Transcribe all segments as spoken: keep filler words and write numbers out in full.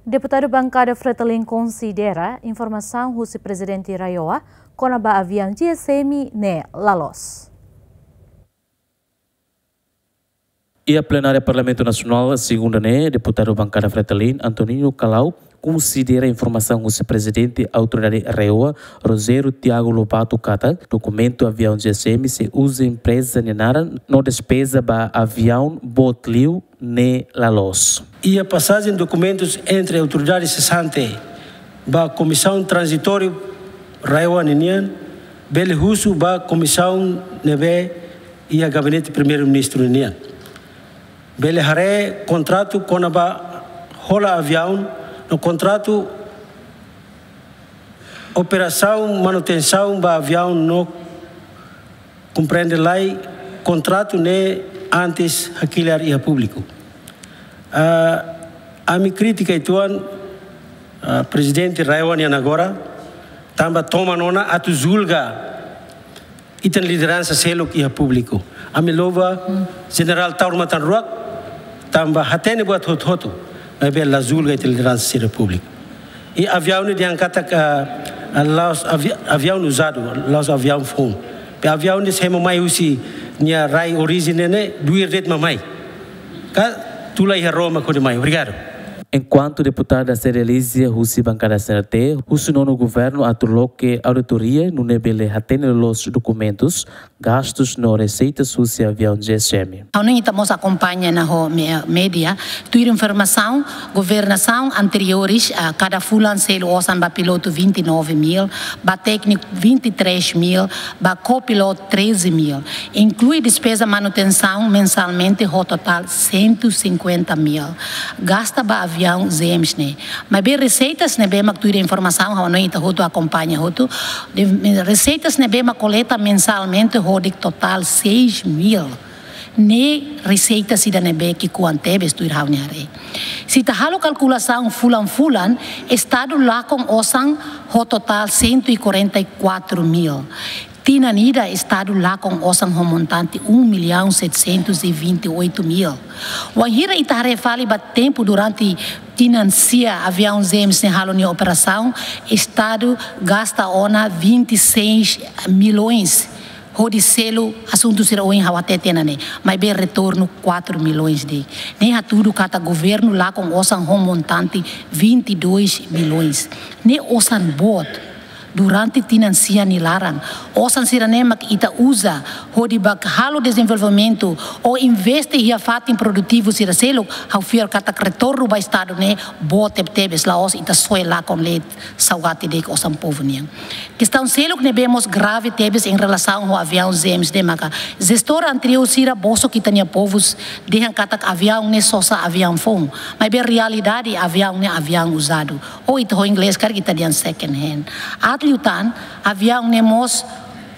Deputadu Bankada Fretilin konsidera informasaun husi Prezidente RAEOA kona-ba aviaun GSM ne'e la loos. Iha plenária Parlamentu Nasionál, segunda ne'e, deputadu Bankada Fretilin, Antoninho Calau, konsidera informasaun husi Prezidente Autoridade RAEOA, Rogério Tiago Lobato katak, dokumentu aviaun GSM sei uza empreza nia naran no despeza ba aviaun boot liu ne'e la loos. Iha pasajen dokumentus entre autoridade sesante ba Komisaun Tranzitóriu RAEOA ninian, bele husu ba komisaun ne'ebé iha Gabinete Primeiru-Ministru ninian. Bele haree kontratu kona-ba hola aviaun no kontratu operasaun manutensaun ba aviaun no komprende lai kontratu ne'e antes hakilar iha públiku. Ah, ami kritika uitoan, ah, Prezidente RAEOA nian agora, tanba toman ona atu julga ita-nia lideransa seluk iha públiku. Ami louva Jenerál Taur Matan Ruak, tanba hatene buat hotu-hotu, maibé la julga ita-nia lideransa sira públiku. I aviaun ne'e dehan katak, ah, ah, la'ós avi-, aviaun uzadu, la'ós aviaun foun. Be aviaun ne'e se ema mai husi nia rai orijen ne'e, ne'e duir de'it mak mai. Ka tula iha ró mak hodi mai. Obrigadu. Enkuantu deputada Cerealizia husi Bankada CNRT, husu nonu governu atu loke auditoria, nune'e bele hatene loloos dokumentus, gastus no reseitas husi aviaun GSM. Ha'u hanoin ita mós akompaña ona ho me-, média, tuir informasaun, governasaun anteriores, ah, kada fulan selu osan ba pilotu vinte e nove mil, ba tékniku vinte e três mil, ba kopilotu treze mil. Inklui despeza manutensaun mensalmente ho totál cento e cinquenta mil. Gasta ba aviaun GSM ne'e. Maibé reseitas ne'ebé mak tuir informasaun, ha'u hanoin ita hotu akompaña hotu. De, reseitas ne'ebé mak koleta mensalmente hodi totál seis mil. Ne'e reseitas ida ne'ebé ki'ikoan tebes tuir ha'u-nia haree. Se ita halo kalkulasaun fulan-fulan, Estadu lakon osan ho totál cento e quarenta e quatro mil. Tinan ida Estadu lakon osan ho montante um milhão setecentos e vinte e oito mil. Wainhira ita haree fali ba tempu durante tinan sia aviaun GSM ne'e halo nia operasaun, Estadu gasta ona vinte e seis milhões hodi selu asuntu sira ohin ha'u hatete ona ne'e, maibé retornu quatro milhões de'it. Ne'e hatudu katak governu lakon osan ho montante vinte e dois milhões. Ne'e osan boot durante tinan sia nia laran. Osan sira-ne'e mak ita uza hodi bá halo dezenvolvimentu ou investe iha fatin produtivu sira seluk, ha'u fiar katak retornu ba Estadu ne'e boot tebetebes, la'ós ita soe lakon leet saugati de'it osan povu nian. Kestaun seluk ne'ebé mós grave tebes em relação ho aviaun GSM ne'e maka jestór anteriór sira bosok ita-nia povus dehan katak aviaun ne'e sosa aviaun foun. Maibé realidade aviaun ne'e aviaun uzadu. Ou ita ho inglés karik ita dehan second hand. Aat liután, aviaun ne'e mós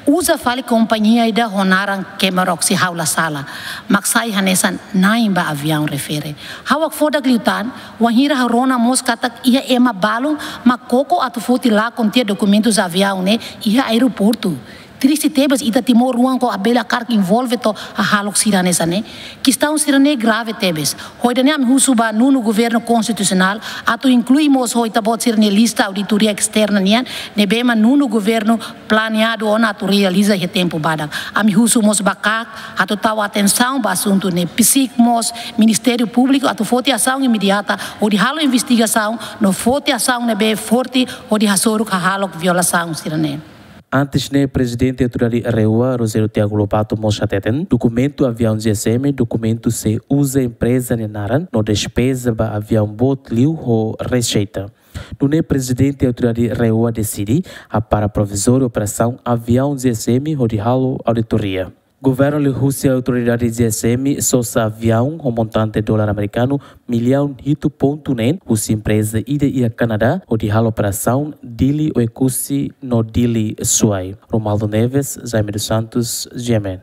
uza fali kompañia ida ho naran Kemarox se ha'u la sala. Mak sai hanesan na'in ba aviaun refere. Ha'u hakfodak liután, wainhira ha'u rona mós katak iha ema balun mak koko atu foti lakon tiha dokumentus aviaun ne'e iha aeroportu. Triste tebes ita timoroan ko abela karik envolve to'o hahalok sira hanesan ne'e. Kestaun sira-ne'e grave tebes. Ho ida-ne'e ami husu ba nonu governu konstitusionál atu inklui mós ho ita-boot sira-nia lista auditoria esterna nian ne'ebé mak nonu governu planeadu ona atu realiza iha tempu badak. Ami husu mós ba KAK atu tau atensaun ba asuntu ne'e. Psiik mós Ministériu Públiku atu foti asaun imediata hodi halo investigasaun no foti asaun ne'ebé forte hodi hasoru hahalok violasaun sira-ne'e. Antes ne'e, Prezidente Autoridade RAEOA, Rogério Tiago Lobato, mós hateten, dokumentu aviaun GSM, dokumentu sei uza empreza nia naran no despeza ba aviaun boot liu ho reseita. Nune'e Prezidente Autoridade RAEOA deside hapara provizóriu operasaun aviaun GSM hodi halo auditoria. Governu liuhusi Autoridade GSM sosa aviaun ho montante dolar amerikanu millaun hitu pontu neen husi empreza ida iha Kanadá hodi halo operasaun Dili Oekusi no Dili Suai. Romualdo Neves, Jaime dos Santos, GMN.